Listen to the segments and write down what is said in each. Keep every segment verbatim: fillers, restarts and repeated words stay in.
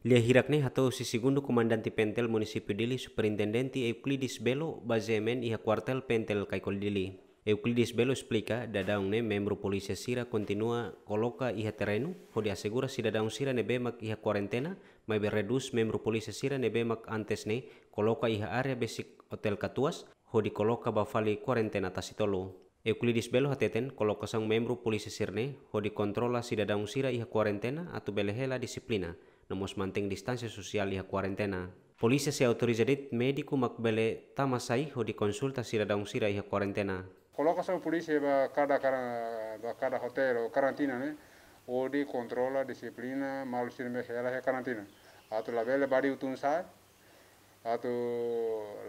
Lia hirak ne'e hato'o husi segundu komandante PNTL Munisípiu Dili, Superintendente Euclides Belo, ba GMN iha kuartél PNTL Caicoli Dili. Euclides Belo esplika, daudaun ne'e membru polísia sira kontinua koloka iha terrenu hodi asegura sidadaun sira ne'ebé mak iha kuarentena, maibé redús membru polísia sira ne'ebé mak antes ne'e koloka iha área besik Hotel Katuas, hodi koloka ba fali kuarentena tasi tolu. Euclides Belo hateten, kolokasaun membru polísia sira-ne'e hodi kontrola sidadaun sira iha kuarentena atu bele hela dixiplina, no mós mantein distánsia sosiál iha kuarentena. Polísia sei autoriza de'it médiku mak bele tama sai hodi konsulta sidadaun sira iha kuarentena. Kolokasaun polísia ba kada, kada, ba kada hotel ou karantina ne'e, hodi kontrola dixiplina maluk sira ne'ebé hela iha karantina. Atu labele badi utun sai, atu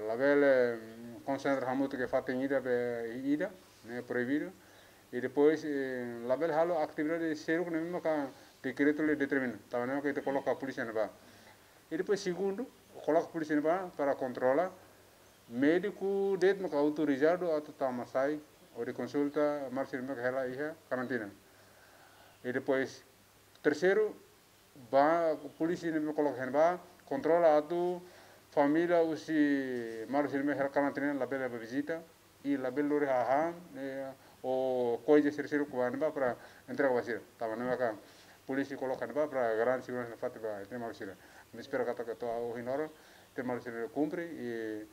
labele, mm, konsentra hamutuk iha fatin ida be ida, ne'e proibidu. I depois, eh, labele halo atividade seluk ne'ebé maka dekretu lei determina. Tanba ne'e maka ita koloka polísia ne'ebá. I depois segundu, koloka polísia ne'ebá para kontrola médiku de'it maka autorizadu atu tama sai hodi konsulta maluk sira ne'ebé maka hela iha karantina. I depois terseiru, ba polísia ne'ebé koloka iha ne'ebá, kontrola atu família husi maluk sira ne'ebé hela karantina labele ba vizita, i labele lori hahán, eh, ou koiza sira seluk ba ne'ebá para entrega ba sira. Tanba ne'e maka polísia koloka ne'ebá para garante seguransa nafatin ba ita-nia maluk sira. Ami espera katak to'o ohin loron ita-nia maluk sira kumpre, i,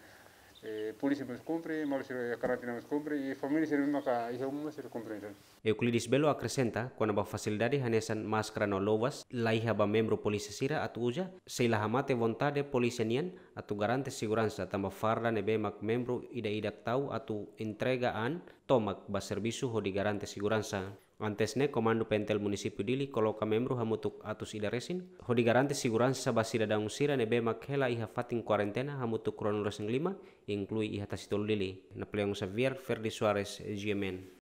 eh, polísia mós kumpre, maluk sira iha karantina mós kumpre, i família sira maka iha uma sira kumpre. Euclides Belo akresenta, kona-ba fasilidade hanesan máskara no luvas, laiha ba membru polísia sira atu uza, sei la hamate vontade polísia nian atu garante seguransa, tanba farda ne'ebé mak membru ida-idak tau atu entrega an tomak ba servisu hodi garante seguransa. Antes ne'e, Komandu PNTL Munisípiu Dili koloka membru hamutuk atus ida resin, hodi garante seguransa ba sidadaun sira ne'ebé mak hela iha fatin kuarentena hamutuk ruanulu resin lima, inklui iha Tasitolu Dili. Napoleão Xavier, Ferdi Soares, GMN.